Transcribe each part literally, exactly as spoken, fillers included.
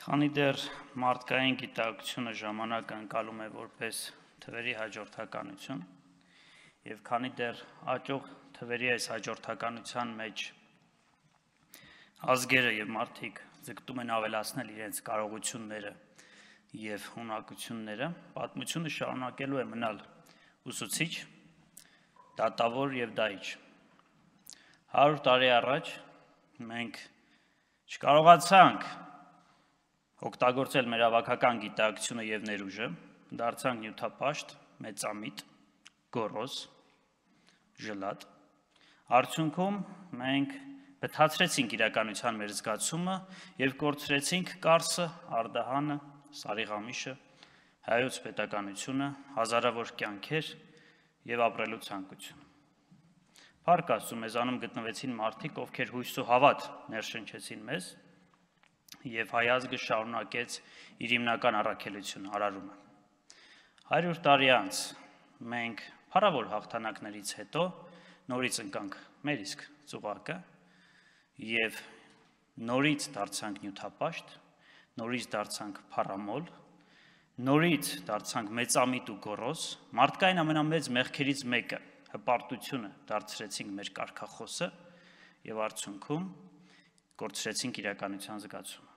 Քանի դեռ մարդկային գիտակցությունը ժամանակ ընկալում է որպես թվերի հաջորդականություն, եւ քանի դեռ աճող թվերի այս հաջորդականության մեջ ազգերը եւ մարդիկ ձգտում են ավելացնել իրենց կարողությունները եւ հունակությունները, պատմությունը շարունակելու է մնալ ուսուցիչ, դատավոր եւ դահիճ։ հարյուր տարի առաջ մենք չկարողացանք օգտագործել մեր ավագական գիտակցությունը եւ ներուժը, դարձանք նյութապաշտ, մեծամիտ, գոռոզ, ժլատ։ Արդյունքում մենք բթացրեցինք իրականության մեր զգացումը եւ կորցրեցինք Կարսը, Արդահանը, Սարիղամիշը, հայոց պետականությունը, հազարավոր կյանքեր եւ ապրելու ցանկություն։ Փառք Աստծո, մեզանում գտնվեցին մարդիկ, ովքեր հույս ու հավատ ներշնչեցին մեզ, եւ հայ ազգը շարունակեց իր հիմնական առաքելությունը, արարումը։ հարյուր տարի անց մենք փառավոր հաղթանակներից հետո նորից ընկանք մեր իսկ ծուղակը եւ նորից դարձանք նյութապաշտ, նորից դարձանք փառամոլ, նորից դարձանք մեծամիտ ու գոռոզ, մարդկային ամենամեծ մեղքերից մեկը հպարտությունը դարձրեցինք մեր կարգախոսը եւ արդյունքում կորցրեցինք իրականության զգացումը։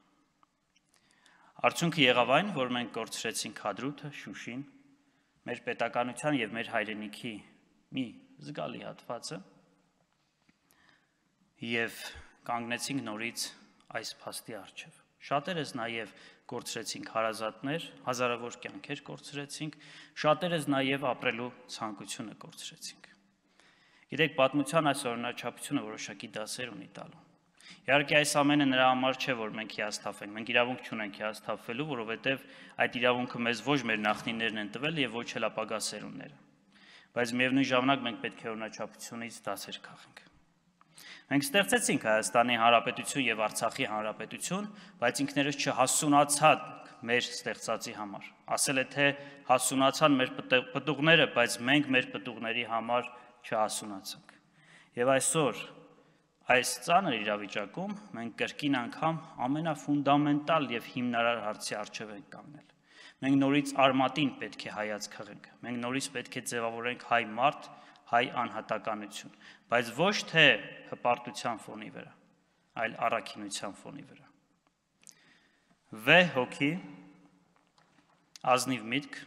Արդյունքը եղավ այն, որ մենք կորցրեցինք Հադրութը, Շուշին, մեր պետականության եւ մեր հայրենիքի մի զգալի հատվածը եւ կանգնեցինք նորից այս փաստի առջև։ Շատերս նաեւ կորցրեցինք հարազատներ, հազարավոր կյանքեր կորցրեցինք, շատերս նաեւ ապրելու ցանկությունը կորցրեցինք։ Գիտեք, պատմության այս օրինաչափությունը որոշակի դասեր ունի տալու։ Իհարկե այս ամենը նրա համար չէ, որ մենք հիասթափենք, մենք իրավունք չունենք հիասթափվելու, որովհետև այդ իրավունքը մեզ ոչ մեր նախնիներն են տվել եւ ոչ էլ ապագա սերունդները։ Բայց միևնույն ժամանակ մենք պետք է օրինաչափությունից դասեր քաղենք։ Մենք ստեղծեցինք Հայաստանի Հանրապետություն եւ Արցախի Հանրապետություն, բայց ինքներս չհասունացանք մեր ստեղծածի համար։ Ասել է թե հասունացան մեր պտուղները, բայց մենք մեր պտուղների համար չհասունացանք։ Եվ այսօր այս ծանր իրավիճակում մենք կրկին անգամ ամենաֆունդամենտալ եւ հիմնարար հարցի առջև ենք կանգնել։ Մենք նորից արմատին պետք է հայացք հղենք, մենք նորից պետք է ձևավորենք հայ մարդ, հայ անհատականություն, բայց ոչ թե հպարտության ֆոնի վրա, այլ առաքինության ֆոնի վրա։ Վեհ հոգի, ազնիվ միտք,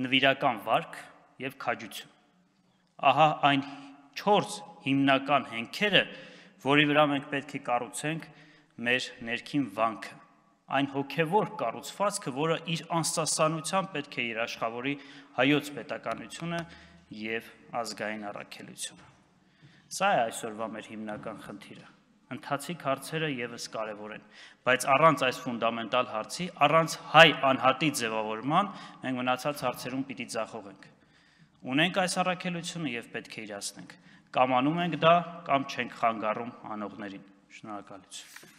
նվիրական վարք եւ քաջություն։ Ահա այն չորս հիմնական հենքերը, որի վրա մենք պետք է կառուցենք մեր ներքին վանքը, այն հոգևոր կառուցվածքը, որը իր անսասանությամբ պետք է երաշխավորի հայոց պետականությունը եւ ազգային առաքելությունը։ Սա է այսօրվա մեր հիմնական խնդիրը։ Ընթացիկ հարցերը եւս կարեւոր են, բայց առանց այս ֆունդամենտալ հարցի, առանց հայ անհատի ձևավորման, մենք մնացած հարցերում պիտի ձախողենք։ Ունենք այս առաքելությունը եւ պետք է իրացնենք։ Կամ անում ենք դա, կամ չենք խանգարում անողներին։ Շնորհակալություն։